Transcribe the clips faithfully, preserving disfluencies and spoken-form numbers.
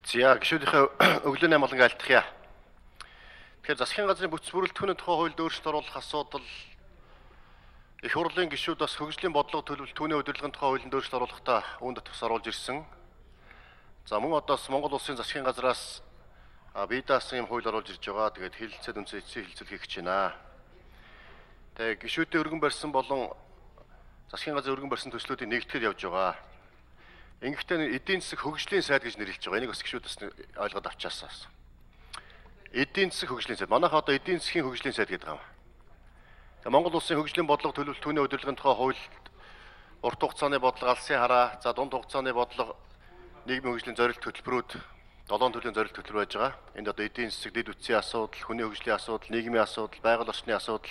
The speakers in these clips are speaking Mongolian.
За гишүүдийнхээ өглөөний амгалан айлтгая. Тэгэхээр засгийн газрын бүтэц бүрэлдэхүүний тухай хуульд өөрчлөлт оруулах асуудал их хурлын гишүүд бас хөгжлийн бодлого төлөвлөлт түүний удирдлагын тухай хуулинд өөрчлөлт оруулахдаа үүнд тус оруулж ирсэн. За мөн одоос Монгол улсын засгийн газраас бие даасан юм хууль оруулж ирж байгаа. Тэгээд хэлэлцээд үнсэн эцсийн хэлэлцэл хийх гэж байна. Тэгээд гишүүдийн өргөн барьсан болон засгийн газрын өргөн барьсан төслүүдийг нэгтгэхэд явж байгаа. Ингэхдээ эдийн засаг хөгжлийн сайд гэж нэрлэж байгаа. Энийг бас гишүүд бас ойлгоод авчаасаа. Эдийн засаг хөгжлийн сайд. Манайх одоо эдийн засгийн хөгжлийн сайд гэдэг юм. За Монгол улсын хөгжлийн бодлого төлөвлөлт түүний удирдлагын тухай хуульд урт хугацааны бодлого, алсын хараа, за дунд хугацааны бодлого, нийгмийн хөгжлийн зорилт хөтөлбөрүүд долоон төрлийн зорилт хөтөлбөр байж байгаа. Энд одоо эдийн засаг, дэд үтсийн асуудал, хүний хөгжлийн асуудал, нийгмийн асуудал, байгаль орчны асуудал,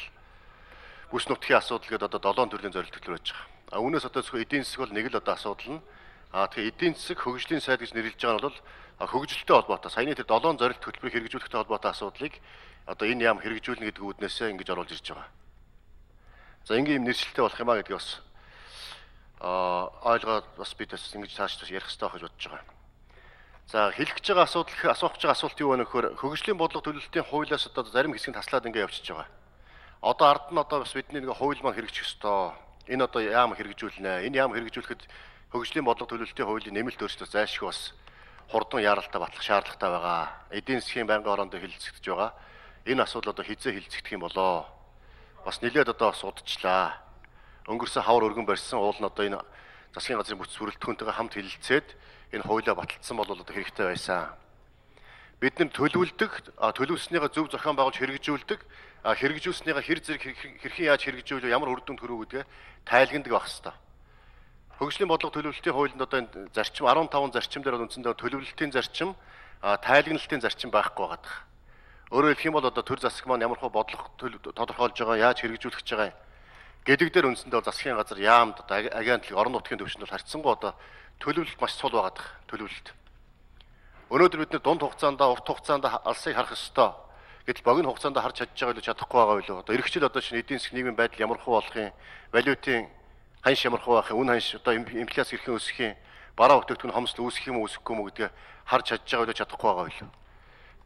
бүс нутгийн асуудал гэдэг одоо долоон төрлийн зорилт хөтөлбөр байж байгаа. А үүнээс одоо зөвхөн эдийн засаг бол нэг л одоо асуудал нь. А тэгэхээр эдийн засаг хөгжлийн сайд гэж нэрлэж байгаа нь бол хөгжилтэй холбоотой. Саяны тэр долоон зорилт хөтөлбөрийг хэрэгжүүлэхтэй холбоотой асуудлыг одоо энэ яам хэрэгжүүлнэ гэдэг үүднээсээ ингэж оруулж ирж байгаа. За ингийн юм нэршилтэй болох юм а гэдгийг бас а ойлгоод бас бид бас ингэж цааш бас ярих хэрэгтэй байх гэж бодож байгаа. За хэлэх гэж байгаа асуудал асуух гэж байгаа асуулт юу вэ нөхөр хөгжлийн бодлого төлөвлөлтийн хуулиас одоо зарим хэсэг нь таслаад ингэ явчихж байгаа. Одоо ард нь одоо бас бидний нэг хууль маань хэрэгжих ёстой. Энэ одоо яам хэрэгжүүлнэ. Энэ яам хэрэгжүүлэхэд хөгжлийн бодлого төлөвлөлтийн хуулийн нэмэлт өөрчлөлт зайлшгүй бас хурдан яаралтай батлах шаардлагатай байгаа. Эдийн засгийн байнгын орондоо хэлэлцэгдэж байгаа. Энэ асуудал одоо хизээ хэлэлцэгдэх юм болоо. Бас нэлээд одоо судалчлаа. Өнгөрсөн хавар өргөн барьсан уул нь одоо энэ засгийн газрын бүтэц бүрэлдэхүүнтэйгээ хамт хэлэлцээд энэ хуулиа баталсан бол одоо хэрэгтэй байсан. Бид нар төлөвлөдөг, төлөвлөснийхөө зөв зохион байгуулж хэрэгжүүлдэг, хэрэгжүүлснийхээ хэр зэрэг хэрхэн яаж хэрэгжүүлэх, ямар үр дүнд хүрэх гэдгээ тайлгнадаг байх хэрэгтэй. Хөгжлийн бодлого төлөвлөлтийн хуулинд одоо энэ зарчим арван таван зарчим дээр үндсэндээ төлөвлөлтийн зарчим, тайлгналтын зарчим байхгүй байгаа. Өөрөөр хэлэх юм бол одоо төр засаг маань ямар хөө бодлого тодорхойлж байгаа, яаж хэрэгжүүлэх гэж байгаа гэдэг дээр үндсэндээ засгийн газар яамд одоо агентлаг орон нутгийн төвшөнд бол харьцангуй одоо төлөвлөлт маш сул байгаа төлөвлөлт. Өнөөдөр бид нэ дунд хугацаанд, урт хугацаанд алсыг харах ёстой. Гэтэл богино хугацаанд харж чадж байгаа илүү чадахгүй байгаа билүү. Одоо эргэжил одоо шинэ эдийн засгийн нийгмийн байдал ямар хөө болох юм, валютын ханш ямар хөө байх юм, үн ханш одоо инфляц хэрхэн өсөх юм, бараа бүтээгдэхүүн хомсдол үүсэх юм уу, үүсэхгүй юм уу гэдгээ харж чадж байгаа билүү, чадахгүй байгаа билүү.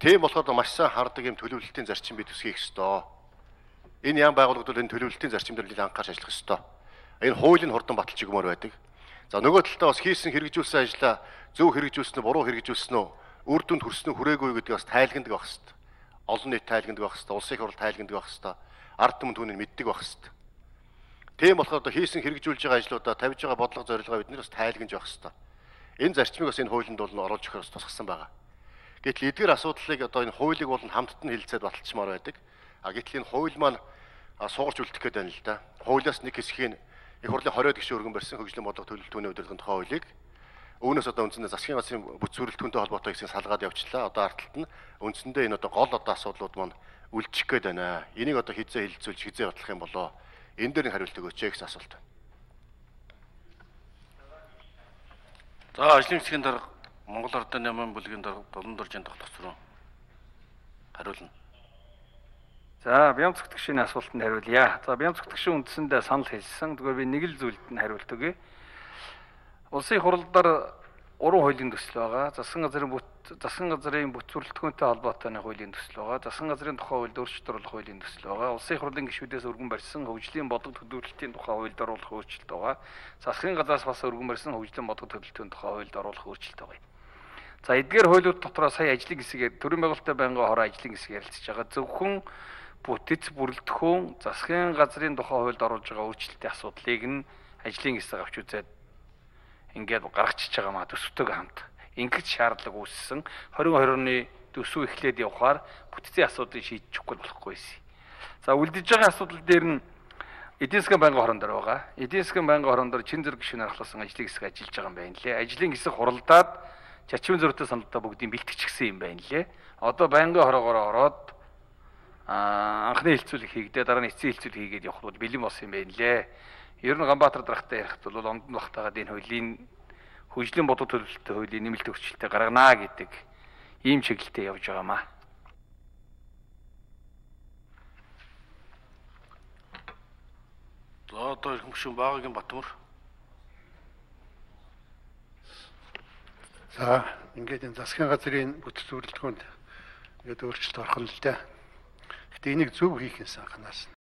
Тийм болохоор маш сайн хардаг юм төлөвлөлтийн зарчим бид төсгийх ёстой. Энэ яам байгууллагууд бол энэ төлөвлөлтийн зарчим дээр нэлээд анхаарч ажиллах ёстой. Энэ хуулийн хурдан баталж өгмөр байдаг. За нөгөө талдаа бас хийсэн хэрэгжүүлсэн ажлаа зөв хэрэгжүүлсэн үү, буруу хэрэгжүүлсэн үү, үр дүнд хүрсэн үү, хүрээгүй гэдгийг бас тайлгнадаг байх ёстой. Олон нийт тайлгнадаг байх ёстой, улсын их хурл тайлгнадаг байх ёстой. Ард түмэн түүнийг мэддэг байх ёстой. Тийм болохоор одоо хийсэн хэрэгжүүлж байгаа ажлуудаа тавьж байгаа бодлого зорилгоо бид нар бас тайлгнаж байх ёстой. Энэ зарчмыг бас энэ хуулинд бол оруулж өгөхөөр тусгасан байгаа. Гэтэл эдгээр асуудлыг одоо энэ хуулийг бол хамтд нь хэлэлцээд баталчмаар байдаг. А гэтэл энэ хууль маань суугарч үлдэх гээд байна л да. Хуулиас нэг хэсгийг их хурлын хориод гишүүн өргөн барьсан хөгжлийн бодлого төлөвлөлт түүний удирдлагын тухай хуулийг үүнээс одоо үндсэндээ засгийн газрын бүтэц бүрэлдэхүүнтэй холбоотой хэсгийг салгаад явчлаа. Одоо ардталт нь үндсэндээ энэ одоо гол одоо асуудлууд маань үлдчих гээд байна. Энийг одоо хизээ хэлэлцүүлж хизээ батлах юм болоо. Энэ дээр нэг хариулт өгөөч гэсэн асуулт. За ажлын хэсгийн дарга Монгол Ардын Яман бүлгийн дарга Долон дуржийн тогтолцоо руу хариулна. За бяам зөвтгшийн асуултанд хариулъя. За бяам зөвтгшийн үндсэндээ санал хэлсэн. Тэгвэл би нэг л зүйлд нь хариулт өгье. Улсын их хурлаар уран хуулийн төсөл байгаа. Засгийн газрын бүт засгийн газрын бүтэц бүрэлдэхүүнтэй холбоотой хуулийн төсөл байгаа. Засгийн газрын тухай хуульд өөрчлөлт оруулах хуулийн төсөл байгаа. Улсын их хурлын гишүүдээс өргөн барьсан хөгжлийн бодлого төлөвлөлтийн тухай хуульд оруулах өөрчлөлт байгаа. Засгийн газраас бас өргөн барьсан хөгжлийн бодлого төлөвлөлтийн тухай хуульд оруулах өөрчлөлт байгаа. За эдгээр хуулиуд дотроо сая ажлын хэсгээр төрийн байгуулалтын байнгын хороо ажлын хэсэг ярилцж байгаа. Зөвхөн бүтэц бүрэлдэхүүн засгийн газрын тухай хуульд оруулж байгаа өөрчлөлтийн асуудлыг нь ажлын хэсэг авч үзээд ингээд гаргачихж байгаа маа төсөвтэйгээ хамт. Ингээд шаардлага үүссэн двадцать двадцать оны төсөв эхлээд явхаар бүтцийн асуудлыг шийдчихгүй болохгүй байсан. За үлдэж байгаа асуудал дээр нь эдийн засгийн байнгын хорон дээр байгаа. Эдийн засгийн байнгын хорон дээр чин зэрэг гишүүнээр ахласан ажлын хэсэг ажиллаж байгаа юм байна лээ. Ажлын хэсэг хуралдаад чачмын зөрүүтэй саналтай бүгдийг бэлтгэчихсэн юм байна лээ. Одоо байнгын хороогоор ороод анхны хэлцүүлэг хийгдээ дараа нь эцсийн хэлцүүлэг хийгээд явах бол бэлэн болсон юм байна лээ. Ер нь Ганбаатар даргатай ярихт бол ондон багтаагаад энэ хуулийн хөгжлийн бодлого төлөвлөлттэй хуулийн нэмэлт өөрчлөлтөд гарганаа гэдэг ийм чиглэлтэй явж байгаамаа. За одоо ирэх гишүүн Баагагийн Батмөр. За ингээд энэ засгийн газрын бүтэц зөвлөлтгөөнд ингээд өөрчлөлт орох нь л дээ. Гэтэ энийг зөв хийх юм санахнаас